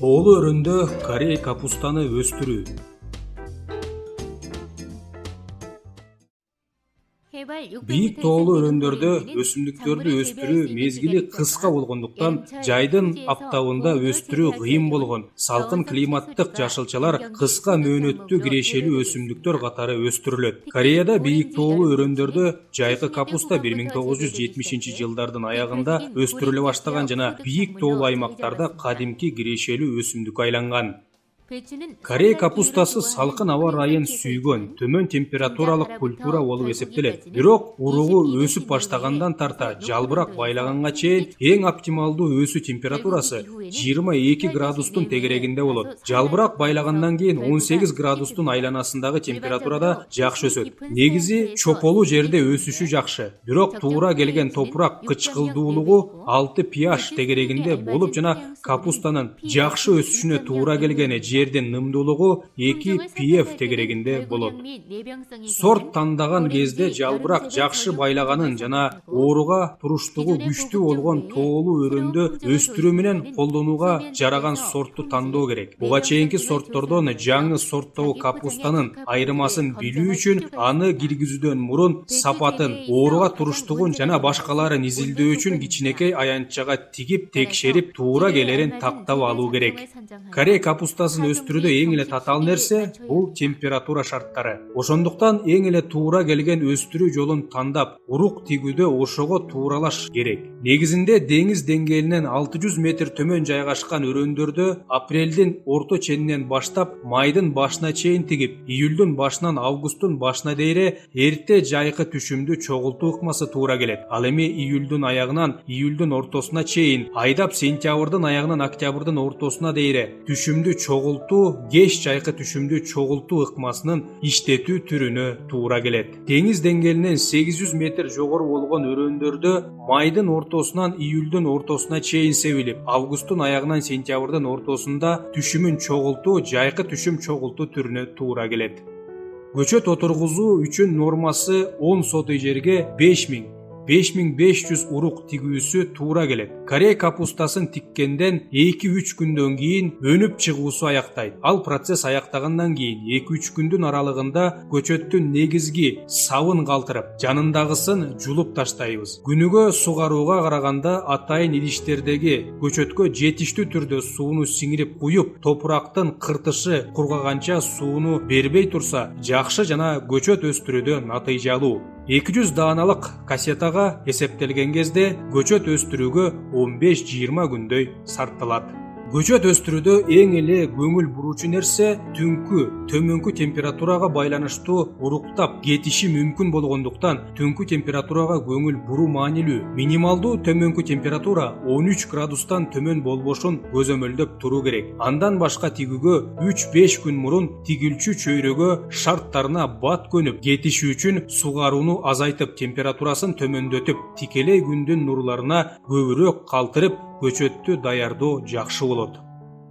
Тоолуу өрөндө Корей капустаны өстүрүү. Бийик тоолуу өрөндөрдө өсүмдүктөрдү өстүрүү мезгили кыска болгондуктан жайдын аптабында өстүрүү кыйын болгон салкын климаттык жашылчалар кыска мөөнөттүү кирешелүү өсүмдүктөр катары өстүрүлөт. Кореяда бийик тоолуу өрөндөрдө жайкы капуста 1970-жылдардын аягында өстүрүлө баштаган жана бийик тоолуу аймактарда кадимки кирешелүү өсүмдүккө айланган. Корей капустасы салкын аба ырайын сүйгөн, төмөн температуралык культура болуп эсептелет. Бирок уругу өсүп баштагандан тарта жалбырак байлаганга чейин эң оптималдуу өсүү температурасы 22 градустун тегерегинде болот. Жалбырак байлагандан кийин 18 градустун айланасындагы температурада жакшы өсөт. Негизи чополуу жерде өсүшү жакшы. Бирок туура келген топурак кычкылдуулугу 6 pH тегерегинде болуп жана капустанын жакшы өсүшүнө туура келген жердин нымдуулугу 2 pF тегерегинде болот. Сорт тандаган кезде жалбырак жакшы байлаганын жана ооруга туруштугу күчтүү болгон тоолуу өрөндө өстүрүү менен колдонууга жараган сортту тандоо керек. Буга чейинки сорттордон жаңы сорттогу капустанын айырмасын билүү үчүн аны киргизүүдөн мурун сапатын, ооруга туруштугун жана башкаларын изилдөө үчүн кичинекей аянтчага тигип текшерип туура келерин тактап алуу керек. Корей капустасын өстүрүүдө эң эле татаал нерсе бул температура шарттары. Ошондуктан эң эле туура келген өстүрүү жолун тандап, урук тигүүдө ошого тууралаш керек. Негизинде деңиз деңгээлинен 600 метр төмөн жайгашкан өрөндөрдө апрелдин орто ченинен баштап майдын башына чейин тигип, июлдун башынан августтун башына дейре эрте жайкы түшүмдү чогултуу ыкмасы туура келет. Ал эми июлдун аягынан июлдун ортосуна чейин, айдап сентябрдын аягынан октябрдын ортосуна дейре түшүмдү чогултуу, кеч жайкы түшүмдү чогултуу ыкмасынын иштетүү түрүнө туура келет. Деңиз деңгээлинен 800 метр жогору болгон өрөндөрдө майдын ортосунан июлдун ортосуна чейин себилип, августтун аягынан сентябрдын ортосунда түшүмүн чогултуу, жайкы түшүм чогултуу түрүнө туура келет. Көчөт отургузуу үчүн нормасы 10 сотый жерге 5500 урук тигүүсү туура келет. Корей капустасын тиккенден 2-3 күндөн кийин өнүп чыгуусу аяктайт. Ал процесс аяктагандан кийин 2-3 күндүн аралыгында көчөттүн негизги сабын калтырып, жанындагысын жулуп таштайбыз. Күнүгө сугарууга караганда атайын идиштердеги көчөткө жетиштүү түрдө сууну сиңирип куюп, топурактын кыртышы кургаганча сууну бербей турса, жакшы жана көчөт өстүрүүдө натыйжалуу. 200 дааналык кассетага эсептелген кезде көчөт өстүрүүгө 15-20 күндөй сарпталат. Көчөт өстүрүүдө эң эле көңүл буруучу нерсе түнкү төмөнкү температурага байланыштуу уруктап кетиши мүмкүн болгондуктан түнкү температурага көңүл буруу маанилүү. Минималдуу төмөнкү температура 13 градустан төмөн болбошун көзөмөлдөп туруу керек. Андан башка тигүүгө 3-5 күн мурун тигилчү чөйрөгө шарттарына бат көнүп, кетиши үчүн сугарууну азайтып, температурасын төмөндөтүп, тикелей күндүн нурларына көбүрөөк калтырып, көчөттү даярдоо жакшы болот.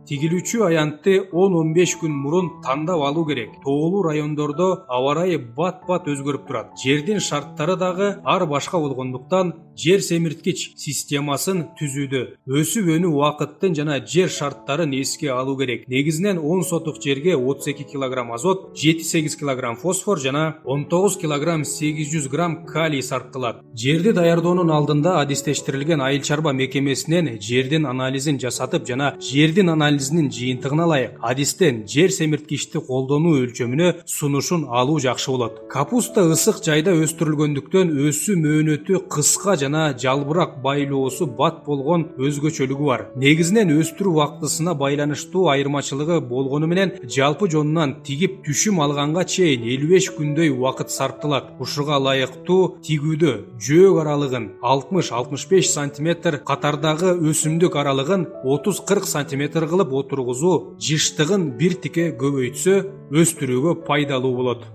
Тигилүүчү аянтты 10-15 күн мурун тандап алуу керек. Тоолуу райондордо аба ырайы бат-бат өзгөрүп турат. Жердин шарттары дагы ар башка болгондуктан жер семирткич системасын түзүүдө өсүп өнүү убакыттын жана жер шарттарын эске алуу керек. Негизинен 10 сотук жерге 32 кг азот, 7-8 кг фосфор жана 19 кг 800 г калий сарпталат. Жерди даярдоонун алдында адистештирилген айыл чарба мекемесинен жердин анализин жасатып жана жердин анализинин жыйынтыгын алайык. Адистен жер семирткичти колдонуу өлчөмүнө сунушун алуу жакшы болот. Капуста ысык жайда өстүрүлгөндүктөн өсүү мөөнөтү кыска жана жалбырак байлоосу бат болгон өзгөчөлүгү бар. Негизинен өстүрүү убактысына байланыштуу айырмачылыгы болгону менен жалпы жонунан тигип түшүм алганга чейин 55 күндөй убакыт сарпталат. Ушуга ылайыктуу тигүүдө жөөк аралыгын 60-65 см, катардагы өсүмдүк аралыгын 30-40 см кылып отургузуу жыштыгын бир тике көбөйтсө өстүрүүгө пайдалуу болот.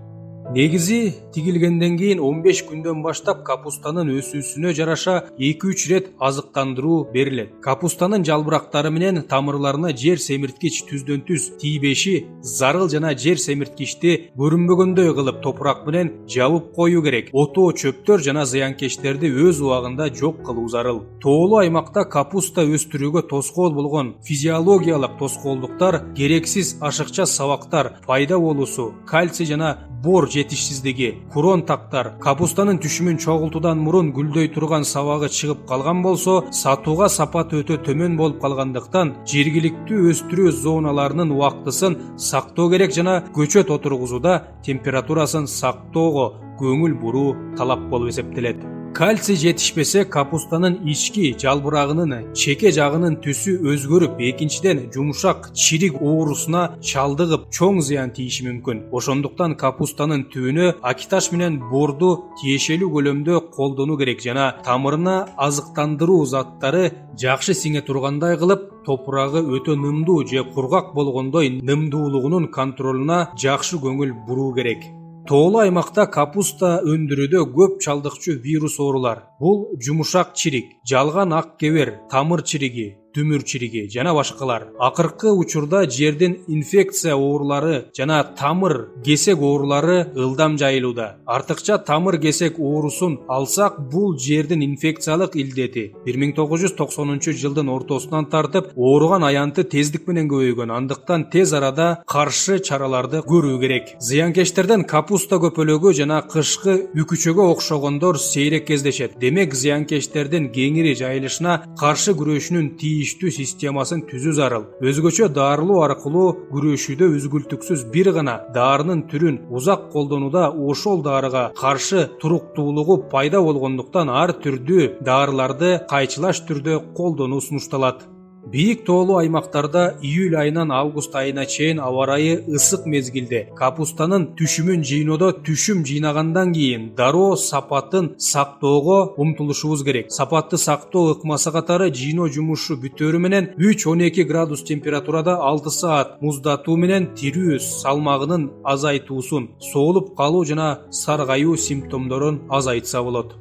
Негизи тигилгенден кийин 15 күндөн баштап капустанын өсүүсүнө жараша 2-3 рет азыктандыруу берилет. Капустанын жалбырактары менен тамырларына жер семирткич түздөн түз тийбеши зарыл жана жер семирткичти көрүнбөгөндөй кылып топурак менен жабып коюу керек. Отоо, чөптөр жана зыянкечтерди өз убагында жок кылуу зарыл. Тоолуу аймакта капуста өстүрүүгө тоскоол болгон физиологиялык тоскоолдуктар керексиз ашыкча сабактар пайда болуусу, кальций жана бор жетишсиздиги, курон тактар, капустанын түшүмүн чогултуудан мурун гүлдөй турган сабагы чыгып калган болсо, сатууга сапаты өтө төмөн болуп калгандыктан жергиликтүү өстүрүү зоналарынын убактысын сактоо керек жана көчөт отургузууда температурасын сактоого көңүл буруу талап болуп эсептелет. Кальций жетишпесе капустанын ички жалбырагынын чеке жагынын түсү өзгөрүп, экинчиден жумшак чирик оорусуна чалдыгып, чоң зыян тийиши мүмкүн. Ошондуктан капустанын түбүнө акиташ менен борду тиешелүү көлөмдө колдонуу керек жана тамырына азыктандыруу заттары жакшы сиңе тургандай кылып, топурагы өтө нымдуу же кургак болгондой нымдуулугунун контролуна жакшы көңүл буруу керек. Тоолуу аймакта капуста өндүрүүдө көп чалдыкчу вирус оорулар. Бул жумшак чирик, жалган ак кебер, тамыр чириги, түмүр чириги жана башкалар. Акыркы учурда жердин инфекция оорулары жана тамыр кесек оорулары ылдам жайылууда. Артыкча тамыр кесек оорусун алсак, бул жердин инфекциялык илдети 1990-жылдын ортосунан тартып ооруган аянты тездик менен көбөйгөн. Андыктан тез арада каршы чараларды көрүү керек. Зыянкечтерден капуста көпөлөгү жана кышкы үкүчөгө окшогондор сейрек кездешет. Демек зыянкечтердин кеңири жайылышына каршы күрөшүүнүн тийиштүү системасын түзүү зарыл. Өзгөчө дарылоо аркылуу күрөшүүдө үзгүлтүксүз бир гана дарынын түрүн узак колдонууда ошол дарыга каршы туруктуулугу пайда болгондуктан ар түрдүү дарыларды кайчылаш түрдө колдонуу сунушталат. Бийик тоолуу аймактарда июль айынан август айына чейин аба ырайы ысык мезгилде капустанын түшүмүн жыйноодо түшүм жыйнагандан кийин дароо сапатын сактоого умтулушубуз керек. Сапатты сактоо ыкмасы катары жыйноо жумушу бүтөөрү менен 3-12 градус температурада 6 саат муздатуу менен тирүү салмагынын азайтуусун, соолуп калуу жана саргаюу симптомдорун азайтса болот.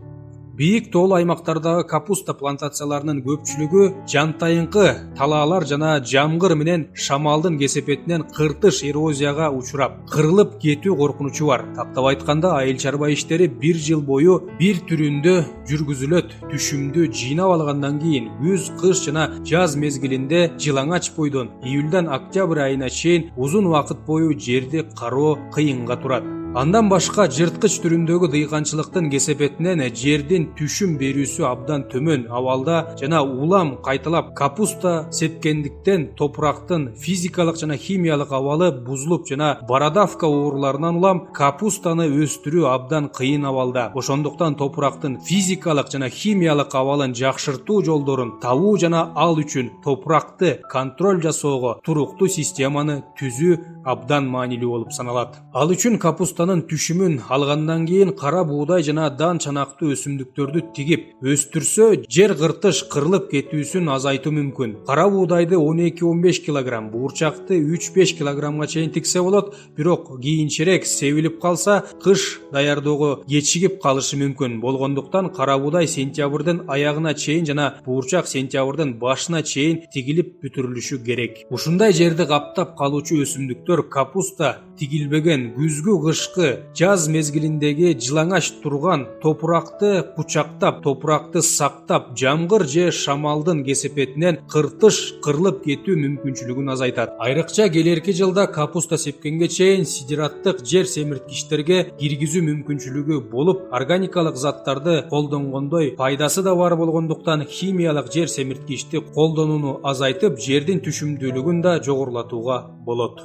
Бийик тоолуу аймактардагы капуста плантацияларынын көпчүлүгү жантайыңкы талаалар жана жамгыр менен шамалдын кесепетинен кыртыш эрозияга учурап, кырылып кетүү коркунучу бар. Тактап айтканда, айыл чарба иштери бир жыл бою бир түрүндө жүргүзүлөт. Түшүмдү жыйнап алгандан кийин күз, кыш жана жаз мезгилинде жылаңач бойдон июлдан октябрь айына чейин узун убакыт бою жерди кароо кыйынга турат. Андан башка жырткыч түрүндөгү дыйканчылыктын кесепетинен жердин түшүм берүүсү абдан төмөн абалда жана улам кайталап капуста сепкендиктен топурактын физикалык жана химиялык абалы бузулуп жана бородавка ооруларынан улам капустаны өстүрүү абдан кыйын абалда. Ошондуктан топурактын физикалык жана химиялык абалын жакшыртуу жолдорун табуу жана ал үчүн топуракты контроль жасоого туруктуу системаны түзүү абдан маанилүү болуп саналат. Ал үчүн капустанын түшүмүн алгандан кийин кара буудай жана дан чанактуу өсүмдүктөрдү тигип өстүрсө, жер кыртыш кырылып кетүүсүн азайтуу мүмкүн. Кара буудайды 12-15 кг, буурчакты 3-5 кг чейин тиксе болот, бирок кийинчерээк себилип калса, кыш даярдоого кечигип калышы мүмкүн болгондуктан кара буудай сентябрдын аягына чейин жана буурчак сентябрдын башына чейин тигилип бүтүрүлүшү керек. Ушундай жерди каптап калуучу өсүмдүктөр капуста тигилбеген күзгү, кышкы, жаз мезгилиндеги жылаңач турган топуракты кучактап, топуракты сактап, жамгыр же шамалдын кесепетинен кыртыш кырылып кетүү мүмкүнчүлүгүн азайтат. Айрыкча келерки жылда капуста сепкенге чейин сидираттык жер семирткичтерге киргизүү мүмкүнчүлүгү болуп, органикалык заттарды колдонгондой пайдасы да бар болгондуктан химиялык жер семирткичти колдонууну азайтып, жердин түшүмдүүлүгүн да жогорулатууга болот.